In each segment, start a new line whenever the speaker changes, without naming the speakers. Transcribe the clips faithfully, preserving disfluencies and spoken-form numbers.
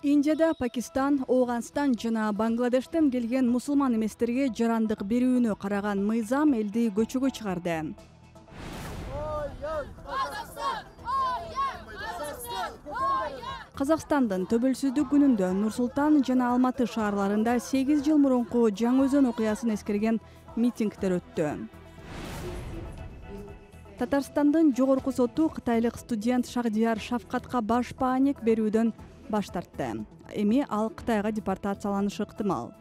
Индияда Пакистан, Афганистан жана Бангладештен келген мусулман эместерге жарандык берүүнү караган мыйзам элди көчөгө чыгарды. Казакстандын төбөлсүздүк күнүндө Нур-Султан жана Алматы шаарларында сегиз жыл мурунку Жаңы Өзөн окуясын эскерген митингдер өттү. Татарстандын жогорку соту кытайлык студент Шахдияр Шавкатка баш бааник берүүдөн баш тартты. Эми ал Кытайга депортацияланышы ыктымал.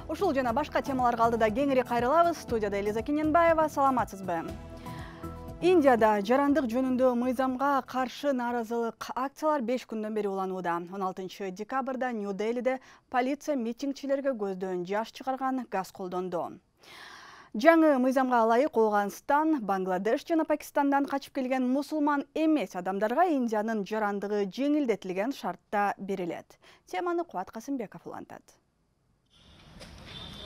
Ушул жана башка темаларга алдыда кеңири кайрылабыз. Студияда Элиза Кененбаева, саламатсызбы? Индияда жарандык жөнүндө мыйзамга каршы нааразылык акциялар беш күндөн бери уланууда. он алтынчы декабрда Нью-Делиде полиция митингчилерге көздөн жаш чыгарган газ колдонду. Жаңы мыйзамга ылайык Афганистан, Бангладеш жана Пакистандан качып келген мусулман эмес адамдарга Индиянын жарандыгы жеңилдетилген шартта берилет. Теманы Кубат Касымбеков улантат.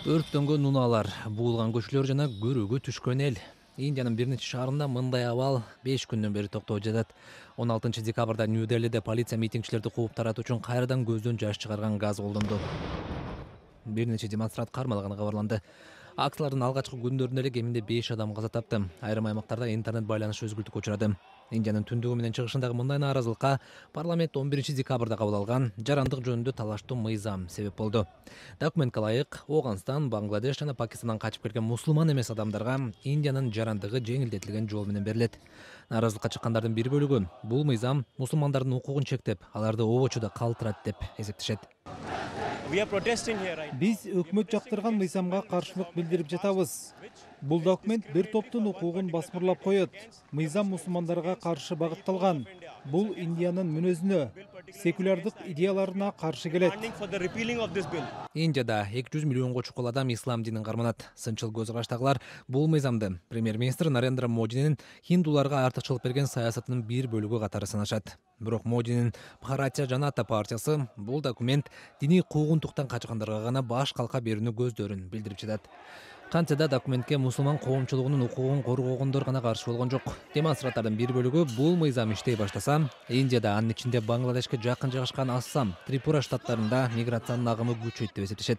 Өрттөнгөн унаалар, буулган көчөлөр жана көрүүгө түшкөн эл. Индиянын бир нече шаарында мындай абал беш күндөн бери токтоп жатат. он алтынчы декабрда Нью-Делиде полиция митингчилерди кууп таратуу үчүн кайрадан көздөн жаш чыгарган газ колдонду. Бир нече демонстрант кармалганы кабарланды. Акциялардын алгачкы күндөрүндө эле кеминде беш адам каза тапты. Айрым аймактарда интернет байланыш өзгүлтүккө учурады. Индиянын түндүгү менен чыгышындагы мындай нааразылыкка парламент он биринчи декабрда кабыл алган жарандык жөнүндө талаштуу мыйзам себеп болду. Документке ылайык Афганистан, Бангладеш жана Пакистандан качып келген мусулман эмес адамдарга Индиянын жарандыгы жеңилдетилген жол менен берилет. Нааразылыкка чыккандардын бир бөлүгү бул мыйзам мусулмандардын укугун чектеп, аларды обочуда калтырат деп эсептешет.
Биз өкмөт жактырган мыйзамга каршылык билдирип жатабыз. Бул документ бир топтун укугун басмырлап коет. Мыйзам мусулмандарга каршы багытталган. Бул Индиянын мүнөзүнө, секулярдык идеяларына каршы келет.
Индияда эки жүз миллионго чукул адам ислам динин карманат. Сынчыл көз караштагылар бул мыйзамды премьер-министр Нарендра Модинин хиндуларга артыкчылык берген саясатынын бир бөлүгү катары санашат. Бирок Модинин Бхаратия Жаната партиясы бул документ диний куугунтуктан качкандарга гана баш калка берүүнү көздөрүн билдирип жатат. Кантсе да документке мусулман коомчулугунун укугун коргогондор гана каршы болгон жок. Демонстранттардын бир бөлүгү бул мыйзам иштей баштаса, Индияда анын ичинде Бангладешке жакын жайгашкан Ассам, Трипура штаттарында миграциянын агымы күчөйт деп эсептешет.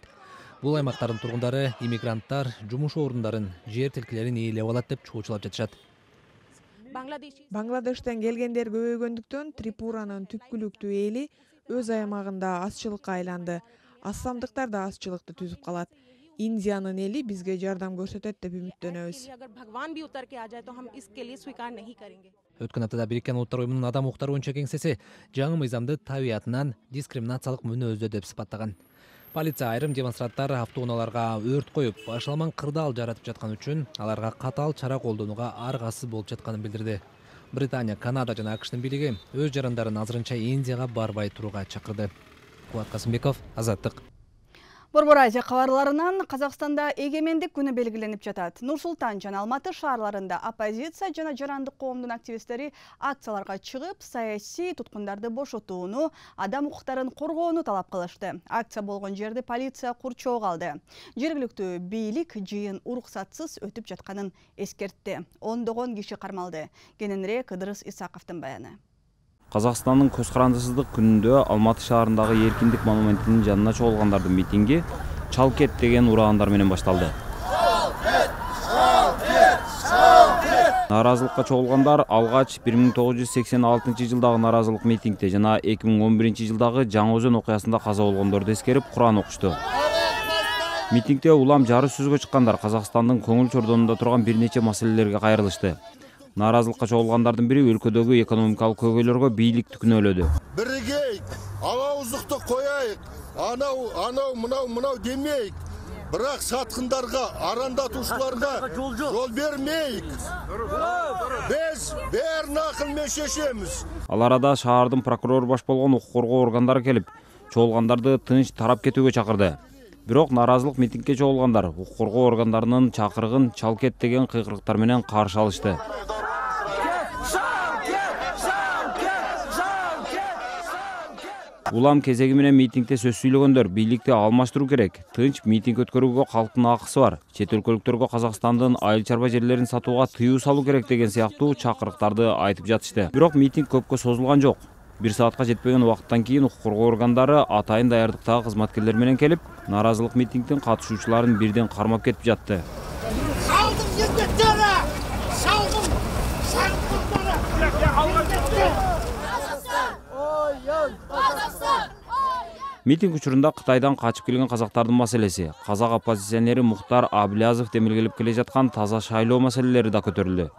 Бул аймактардын тургундары иммигранттар жумуш орундарын, жер тилкелерин ээлеп алат деп чоочулап жатышат.
Бангладештен келгендер көбөйгөндүктөн Трипуранын түпкүлүктүү эли өз аймагында азчылыкка айланды. Ассамдыктар да азчылыкты түзүп калат. Индиянын эли бизге жардам көрсөтөт деп үмүттөнөбүз.
Өткөн аптада Бириккен Улуттар уюмунун адам укуктары боюнча кеңсеси жаңы мыйзамды табиятынан дискриминациялык мүнөздө деп сыпаттаган. Полиция айрым демонстранттар автоунааларга өрт коюп, башаламан кырдаал жаратып жаткан үчүн аларга катаал чара колдонууга аргасыз болуп жатканын билдирди. Британия, Канада жана АКШтын бийлиги өз жарандарын азырынча Индияга барбай турууга чакырды. Кубат Касымбеков, Азаттык.
Борбор Азия кабарларынан Казакстанда эгемендик күнү белгиленип жатат. Нур-Султан жана Алматы шаарларында оппозиция жана жарандык коомдун активисттери акцияларга чыгып, саясий туткундарды бошотууну, адам укуктарын коргоону талап кылышты. Акция болгон жерди полиция курчоого алды. Жергиликтүү бийлик жыйын уруксатсыз өтүп жатканын эскертти. Ондогон киши кармалды. Кененирээк Ыдырыс Исаковдун баяны.
Казакстандын көз карандысыздык күнүндө Алматы шаарындагы Эркиндик монументинин жанына чогулгандардын митинги «Чалкет» деген ураандар менен башталды. Нааразылыкка чогулгандар алгач бир миң тогуз жүз сексен алтынчы жылдагы нааразылык митингде жана эки миң он биринчи жылдагы Жаңы Өзөн окуясында каза болгондорду эскерип Куран окушту. Митингде улам жары сөзгө чыккандар Казакстандын көңүл чордонунда турган бир нече маселелерге кайрылышты. Нааразылыкка чогулгандардын бири өлкөдөгү экономикалык көйгөйлөргө бийликти күнөөлөдү.
Биригейик, алауыздыкты кояйык, анау, анау, мынау, мынау демейик. Бирок саткындарга, арандатуучуларга жол бермейик. Биз бээрин акыл менен чечебиз.
Ал арада шаардын прокурор баш болгон укук коргоо органдары келип, чогулгандарды тынч тарап кетүүгө чакырды. Бирок нааразылык митингге чогулгандар укук коргоо органдарынын чакырыгын «Чалкет» деген кыйкырыктар менен каршы алышты. Улам кезеги менен митингде сөз сүйлөгөндөр бийликти алмаштыруу керек. Тынч митинг өткөрүүгө калктын акысы бар. Чет өлкөлүктөргө Казакстандын айыл чарба жерлерин сатууга тыюу салуу керек деген сыяктуу чакырыктарды айтып жатышты. Бирок митинг көпкө созулган жок. Бир саатка жетпеген убакыттан кийин укук коргоо органдары атайын даярдыктагы кызматкерлер менен келип, нааразылык митингдин катышуучуларын бирден кармап кетип жатты. Митинг учурунда Кытайдан качып келген казактардын маселеси, казак оппозиционери Мухтар Аблязов демилгелеп келе жаткан таза шайлоо маселелери да көтөрүлдү.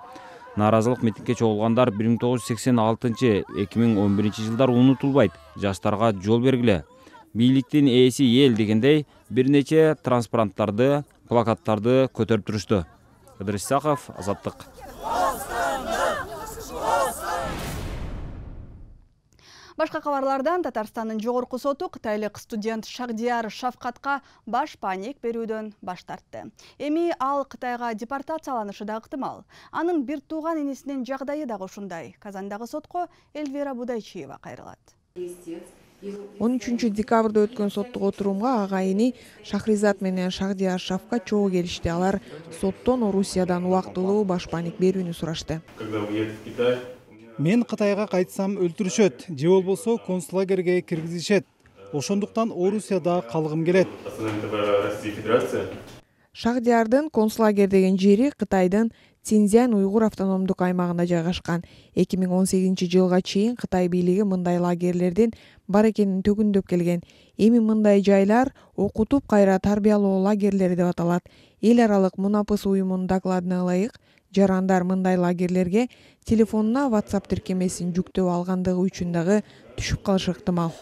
Нааразылык митингге чогулгандар бир миң тогуз жүз сексен алтынчы — эки миң он биринчи жылдар унутулбайт. Жаштарга жол бергиле. Бийликтин ээси эл дегендей бир нече транспаранттарды, плакаттарды көтөрүп турушту. Ыдырыс Исаков, Азаттык.
Башка кабарлардан Татарстандын жогорку соту кытайлык студент Шахдияр Шавкатка баш паник берүүдөн баш тартты. Эми ал Кытайга депортацияланышы да ыктымал. Анын бир тууган инесинин жагдайы дагы ушундай. Казандагы сотко Эльвира Будайчиева кайрылат.
он үчүнчү декабрда өткөн соттук отурумга агайыны Шахризат менен Шахдияр Шавкат чогуу келишти. Алар соттон Орусиядан убактылуу баш паник берүүнү сурашты.
Мен Кытайга кайтсам өлтүрүшөт, же болбосо концлагерге киргизишет. Ошондуктан Орусияда калгым келет.
Шахдиярдын концлагер деген жери Кытайдын Цинцзян уйгур автономдук аймагында жайгашкан. эки миң он сегизинчи жылга чейин Кытай бийлиги мындай лагерлердин бар экенин төгүндөп келген. Эми мындай жайлар окутуп кайра тарбиялоо лагерлери деп аталат. Эл аралык Мунапыс уюмунун докладына ылайык, жарандар мындай лагерлерге телефонуна WhatsApp тиркемесин жүктөп алгандыгы үчүн дагы түшүп калышы ыктымал.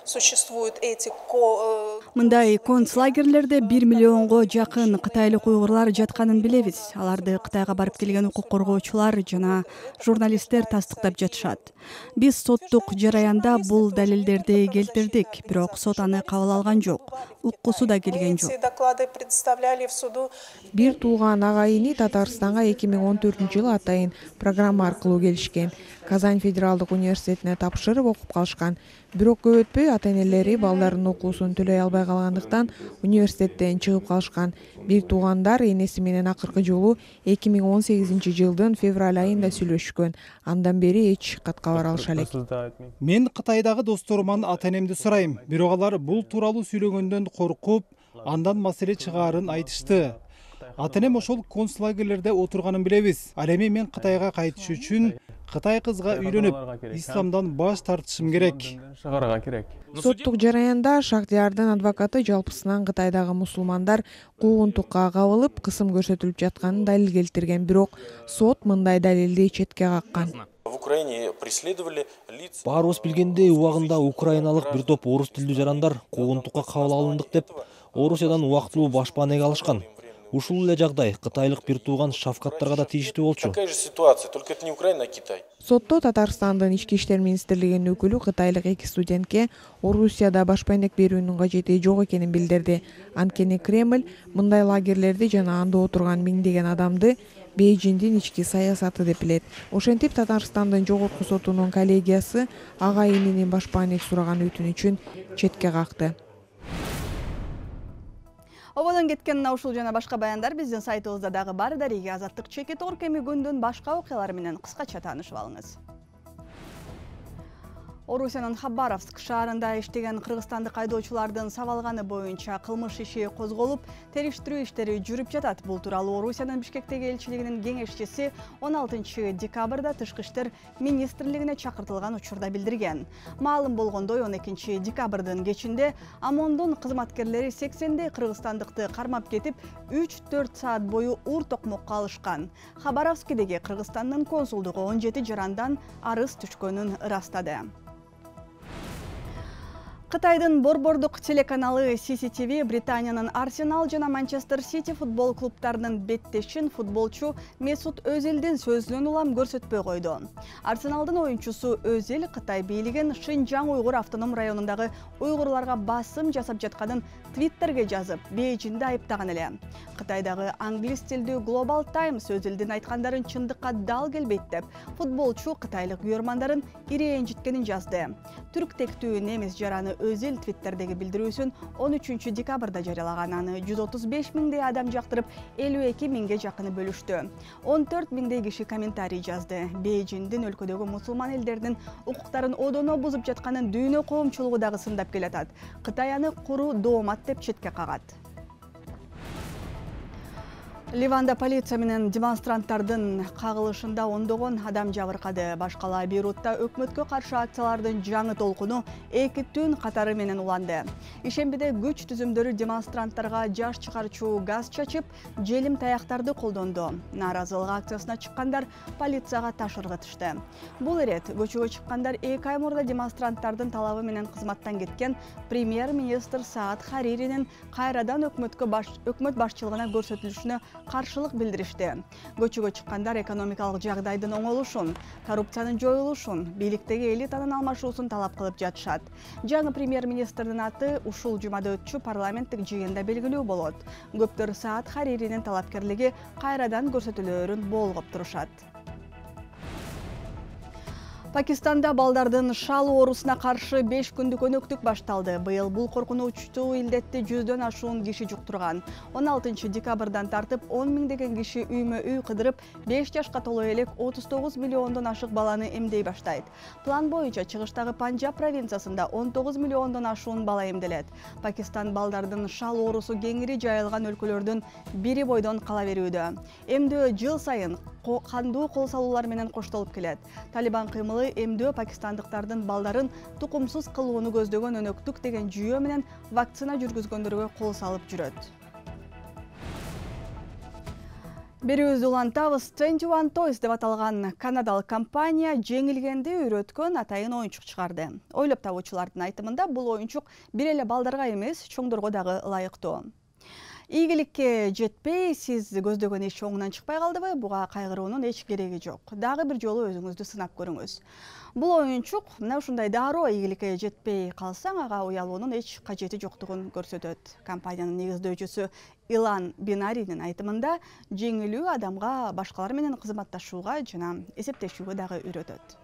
Мындай концлагерлерде бир миллионго жакын кытайлык уйгурлар жатканын билебиз. Аларды Кытайга барып келген укук коргоочулар жана журналисттер тастыктап жатышат. Биз соттук жараянда бул далилдерди келтирдик, бирок сот аны кабыл алган жок. Уккусу да келген жок.
Бир тууган агайыны Татарстанга эки миң он төртүнчү жылы атайын программа аркылуу келишкен. Казань федералдык университетине тапшырып окуп калышкан. Бирок көп өтпөй ата-энелери балдарынын окуусун төлөй албай калгандыктан университеттен чыгып калышкан. Бир туугандар энеси менен акыркы жолу эки миң он сегизинчи жылдын февраль айында сүйлөшкөн. Андан бери эч кат кабар алыша элек.
Мен Кытайдагы досторуман ата-энемди сурайм, бирок алар бул тууралуу сүйлөгөндөн коркуп, андан маселе чыгаарын айтышты. Ата-энем ошол концлагерлерде отурганын билебиз. Ал эми мен Кытайга кайтыш үчүн Кытай кызга үйлөнүп, исламдан баш тартышым керек.
Соттук жараянда Шахдиярдын адвокаты жалпысынан Кытайдагы мусулмандар куугунтукка кабылып, кысым көрсөтүлүп жатканын далил келтирген, бирок сот мындай далилди четке каккан.
Баарыбыз билгендей, убагында украиналык бир топ орус тилдүү жарандар куугунтукка кабыл алындык деп Орусиядан убактылуу баш паник алышкан. Ушул эле жагдай кытайлык бир тууган Шавкаттарга да тийиштүү болчу.
Сотто Татарстандын ички иштер министрлигинин өкүлү кытайлык эки студентке Орусияда баш паник берүүнүн кажети жок экенин билдирди. Анткени Кремль мындай лагерлерди жана анда отурган миңдеген адамды Бейжиңдин ички саясаты деп билет. Ошентип Татарстандын жогорку сотунун коллегиясы агайынынын баш паник сураган өтүнүчүн четке какты.
Ободон кеткен мына ушул жана башка баяндар биздин сайтыбызда дагы бар. Дареги Азаттык чекит орг эми күндүн башка окуялары менен кыскача таанышып алыңыз. Орусиянын Хабаровск шаарында иштеген кыргызстандык айдоочулардын сабалганы боюнча кылмыш иши козголуп, териштирүү иштери жүрүп жатат. Бул тууралуу Орусиянын Бишкектеги элчилигинин кеңешчиси он алтынчы декабрда Тышкы иштер министрлигине чакыртылган учурда билдирген. Маалым болгондой, он экинчи декабрдын кечинде ОМОНдун кызматкерлери сексендей кыргызстандыкты кармап кетип, үч төрт саат бою ур токмокко алышкан. Хабаровскдеги Кыргызстандын консулдугу он жети жарандан арыз түшкөнүн ырастады. Кытайдын борбордук телеканалы си си ти ви Британиянын Арсенал жана Манчестер Сити футбол клубтарынын беттешин футболчу Месут Өзелдин сөзүнөн улам көрсөтпөй койду. Арсеналдын оюнчусу Өзел Кытай бийлигин Шинжаң уйгур автоном районундагы уйгурларга басым жасап жатканын Твиттерге жазып, Бейжиңди айыптаган эле. Кытайдагы англис тилдүү Global Times Өзелдин айткандарын чындыкка дал келбейт деп, футболчу кытайлык үйөрмандарын ирээжиткенин жазды. Түрк тектүү немис жараны Өзил Твиттердеги билдирүүсүн он үчүнчү декабрда жарыялаган. Аны жүз отуз беш миңдей адам жактырып, элүү эки миңге жакыны бөлүштү. он төрт миңдей киши комментарий жазды. Бейжиңдин өлкөдөгү мусулман элдердин укуктарын одоно бузуп жатканын дүйнө коомчулугу дагы сындап келатат. Кытай аны куру доомат деп четке кагат. Ливанда полиция менен демонстранттардын кагылышында ондогон адам жабыркады. Башкала Бейрутта өкмөткө каршы акциялардын жаңы толкуну эки түн катары менен уланды. Ишембиде күч түзүмдөрү демонстранттарга жаш чыгарчу газ чачып, желим таяктарды колдонду. Нааразылык акциясына чыккандар полицияга таш ыргытышты. Бул ирет көчөгө чыккандар эки ай мурда демонстранттардын талабы менен кызматтан кеткен премьер-министр Саад Хариринин кайрадан өкмөткө баш өкмөт башчылыгына көрсөтүлүшүнө каршылык билдиришти. Көчөгө чыккандар экономикалык жагдайдын оңолушун, коррупциянын жоюлушун, бийликтеги элитанын алмашуусун талап кылып жатышат. Жаңы премьер-министрдин аты ушул жумада өтчү парламенттик жыйында белгилүү болот. Көптөр Саад Хариринин талапкерлиги кайрадан көрсөтүлөөрүн болгоп турушат. Пакистанда балдардын шал оорусуна каршы беш күндүк өнөктүк башталды. Быйыл бул коркунучтуу илдетти жүздөн ашуун киши жуктурган. он алтынчы декабрдан тартып он миңдеген киши үймө-үй кыдырып, беш жашка толо элек отуз тогуз миллиондон ашык баланы эмдей баштайт. План боюнча чыгыштагы Панджаб провинциясында он тогуз миллиондон ашуун бала эмделет. Пакистан балдардын шал оорусу кеңири жайылган өлкөлөрдүн бири бойдон кала берүүдө. Эмдөө жыл сайын кандуу кол салуулар менен коштолуп келет. Талибан кыймылы эмдөө пакистандыктардын балдарын тукумсуз кылууну көздөгөн өнөктүк деген жүйө менен вакцина жүргүзгөндөргө кол салып жүрөт. Берүүбүздү улантабыз. двадцать one Toys деп аталган канадалык компания жеңилгенди үйрөткөн атайын оюнчук чыгарды. Ойлоп табуучулардын айтымында бул оюнчук бир эле балдарга эмес, чоңдорго дагы ылайыктуу. Ийгиликке жетпей, сиз көздөгөн иш оңунан чыкпай калдыбы? Буга кайгыруунун эч кереги жок. Дагы бир жолу өзүңүздү сынап көрүңүз. Бул оюнчук мына ушундай дароо ийгиликке жетпей калсаң, ага уялуунун эч кажети жоктугун көрсөтөт. Компаниянын негиздөөчүсү Илан Бинаринин айтымында, жеңилүү адамга башкалар менен кызматташууга жана эсептешүүгө дагы үйрөтөт.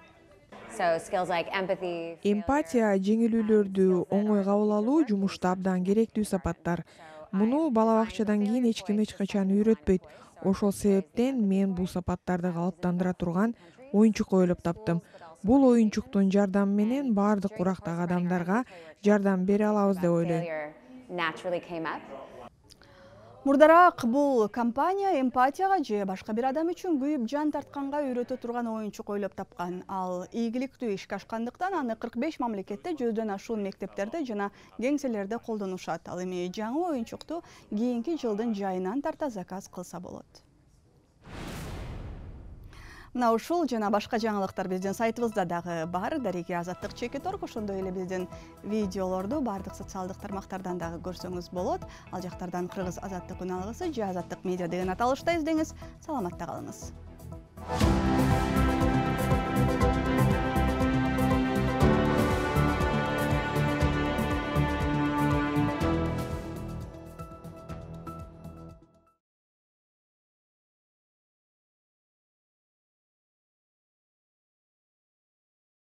Эмпатия, жеңилүүлөрдү оңой кабыл алуу жумушта абдан керектүү сапаттар. Муну бала бакчадан кийин эч ким эч качан үйрөтпөйт. Ошол себептен мен бул сапаттарды калыптандыра турган оюнчук ойлоп таптым. Бул оюнчуктун жардамы менен бардык урактагы адамдарга жардам бере алабыз деп ойлойм.
Мурдараак бул компания эмпатияга же башка бир адам үчүн күйүп жан тартканга үйрөтө турган оюнчук ойлоп тапкан. Ал ийгиликтүү ишке ашкандыктан аны кырк беш мамлекетте жүздөн ашуун мектептерде жана кеңселерде колдонушат. Ал эми жаңы оюнчукту кийинки жылдын жайынан тарта заказ кылса болот. Мына ушул жана башка жаңылыктар биздин сайтыбызда дагы бар. Дареги Азаттык чекит орг, ошондой эле биздин видеолорду бардык социалдык тармактардан дагы көрсөңүз болот. Ал жактардан Кыргыз Азаттык үн алгысы же Азаттык медиа деген аталышта издеңиз. Саламатта калыңыз.